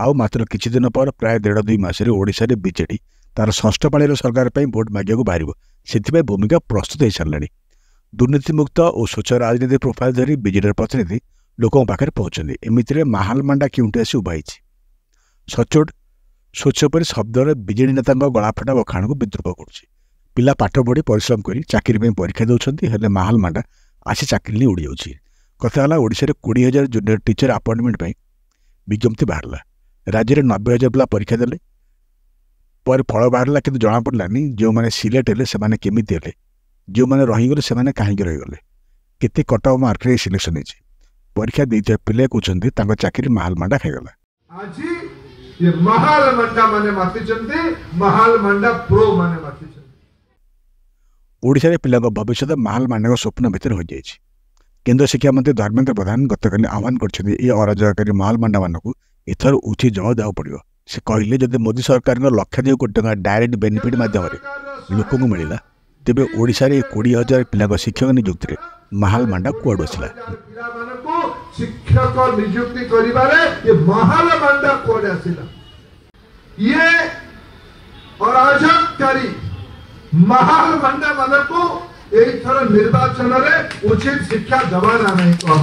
ଆଉ ମାତ୍ର କିଛି ଦିନ ପରେ ପ୍ରାୟ ଦେଢ଼ ଦୁଇ ମାସରେ ଓଡ଼ିଶାରେ ବିଜେଡି ତାର ଷଷ୍ଠ ପାଳିର ସରକାର ପାଇଁ ଭୋଟ ମାଗିବାକୁ ବାହାରିବ। ସେଥିପାଇଁ ଭୂମିକା ପ୍ରସ୍ତୁତ ହୋଇସାରିଲାଣି। ଦୁର୍ନୀତିମୁକ୍ତ ଓ ସ୍ୱଚ୍ଛ ରାଜନୀତି ପ୍ରୋଫାଇଲ୍ ଧରି ବିଜେଡିର ପ୍ରତିନିଧି ଲୋକଙ୍କ ପାଖରେ ପହଞ୍ଚନ୍ତି। ଏମିତିରେ ମାହାଲ ମାଣ୍ଡା କେଉଁଠି ଆସି ଉଭା ହେଇଛି? ସଚୋଟ ସ୍ୱଚ୍ଛ ପରି ଶବ୍ଦରେ ବିଜେଡି ନେତାଙ୍କ ଗଳାଫଟା ବଖାଣକୁ ବିଦ୍ରୁପ କରୁଛି। ପିଲା ପାଠ ପଢ଼ି ପରିଶ୍ରମ କରି ଚାକିରି ପାଇଁ ପରୀକ୍ଷା ଦେଉଛନ୍ତି, ହେଲେ ମାହାଲ ମାଣ୍ଡା ଆସି ଚାକିରି ନେଇ ଉଡ଼ିଯାଉଛି। କଥା ହେଲା, ଓଡ଼ିଶାରେ 20,000 ଜୁନିୟର ଟିଚର ଆପଏଣ୍ଟମେଣ୍ଟ ପାଇଁ ବିଜ୍ଞପ୍ତି ବାହାରିଲା। ରାଜ୍ୟରେ 90,000 ପିଲା ପରୀକ୍ଷା ଦେଲେ। ପରେ ଫଳ ବାହାରିଲା, କିନ୍ତୁ ଜଣାପଡ଼ିଲାନି ଯେଉଁମାନେ ସିଲେକ୍ଟ ହେଲେ ସେମାନେ କେମିତି ହେଲେ, ଯେଉଁମାନେ ରହିଗଲେ ସେମାନେ କାହିଁକି ରହିଗଲେ, କେତେ କଟ୍ ଅଫ୍ ମାର୍କରେ ସିଲେକ୍ସନ୍ ହେଇଛି। ପରୀକ୍ଷା ଦେଇଥିବା ପିଲା କହୁଛନ୍ତି ତାଙ୍କ ଚାକିରି ମାହାଲ ମାଣ୍ଡା ଖାଇଗଲା। ଆଜି ଏ ମାହାଲ ମାଣ୍ଡା ମାନେ ମାତିଛନ୍ତି, ମାହାଲ ମାଣ୍ଡା ପ୍ରୋ ମାନେ ମାତିଛନ୍ତି। ଓଡ଼ିଶାରେ ପିଲାଙ୍କ ଭବିଷ୍ୟତ ମାହାଲ ମାଣ୍ଡାଙ୍କ ସ୍ୱପ୍ନ ଭିତରେ ହୋଇଯାଇଛି। କେନ୍ଦ୍ର ଶିକ୍ଷାମନ୍ତ୍ରୀ ଧର୍ମେନ୍ଦ୍ର ପ୍ରଧାନ ଗତକାଲି ଆହ୍ୱାନ କରିଛନ୍ତି, ଏ ଅରାଜକକାରୀ ମାହାଲ ମାଣ୍ଡାମାନଙ୍କୁ ଏଥର ଉଚିତ ଜବାବ ଦେବାକୁ ପଡ଼ିବ। ସେ କହିଲେ, ଯଦି ମୋଦି ସରକାରଙ୍କ ଲକ୍ଷାଧିକ କୋଟି ଟଙ୍କା ଡାଇରେକ୍ଟ ବେନିଫିଟ୍ ମାଧ୍ୟମରେ ଲୋକଙ୍କୁ ମିଳିଲା, ତେବେ ଓଡ଼ିଶାରେ 20,000 ପିଲାଙ୍କ ଶିକ୍ଷକ ନିଯୁକ୍ତିରେ ମାହାଲ ମାଣ୍ଡା କୁଆଡ଼ୁ ଆସିଲା? ପିଲାମାନଙ୍କୁ ଶିକ୍ଷକ ନିଯୁକ୍ତି କରିବାରେ ଏ ମାହାଲ ମାଣ୍ଡା କୁଆଡ଼େ ଆସିଲା? ଇଏ ଅରାଜକକାରୀ ମାହାଲ ମାଣ୍ଡା ମାନଙ୍କୁ ଏଇଥର ନିର୍ବାଚନରେ ଉଚିତ ଶିକ୍ଷା ଦେବା ନା ନାହିଁ କହ?